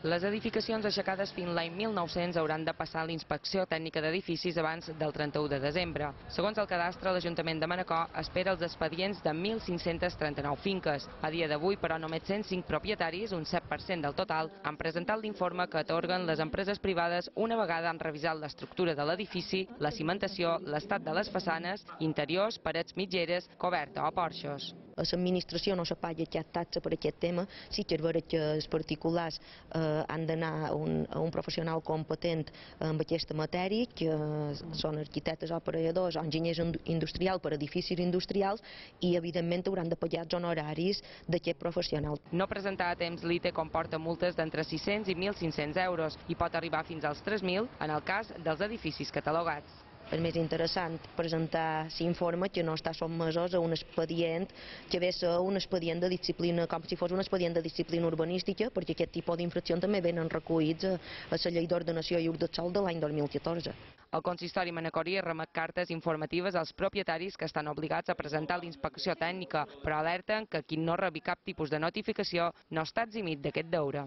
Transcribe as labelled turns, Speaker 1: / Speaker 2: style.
Speaker 1: Les edificacions aixecades fins l'any 1900 hauran de passar la inspecció tècnica d'edificis abans del 31 de desembre. Segons el cadastre, l'Ajuntament de Manacor espera els expedients de 1.539 finques. A dia d'avui, però, només 105 propietaris, un 7% del total, han presentat l'informe que atorguen les empreses privades una vegada han revisat l'estructura de l'edifici, la cimentació, l'estat de les façanes, interiors, parets mitgeres, coberta o porxos.
Speaker 2: L'administració no se paga cap taxa per aquest tema, sí que és veritat que els particulars han d'anar a un professional competent en aquesta matèria, que són arquitectes o operadors o enginyers industrials per a edificis industrials, i evidentment hauran de pagar els honoraris d'aquest professional.
Speaker 1: No presentar a temps l'ITE comporta multes d'entre 600 i 1.500 euros i pot arribar fins als 3.000 en el cas dels edificis catalogats.
Speaker 2: És més interessant presentar l'informe que no està sotmesos a un expedient que ve a ser un expedient de disciplina, com si fos un expedient de disciplina urbanística, perquè aquest tipus d'infraccions també venen recollits a la llei d'ordenació i ús del sòl de l'any 2014.
Speaker 1: El consistori manacorí remet cartes informatives als propietaris que estan obligats a presentar la inspecció tècnica, però alerten que qui no rebi cap tipus de notificació no està eximit d'aquest deure.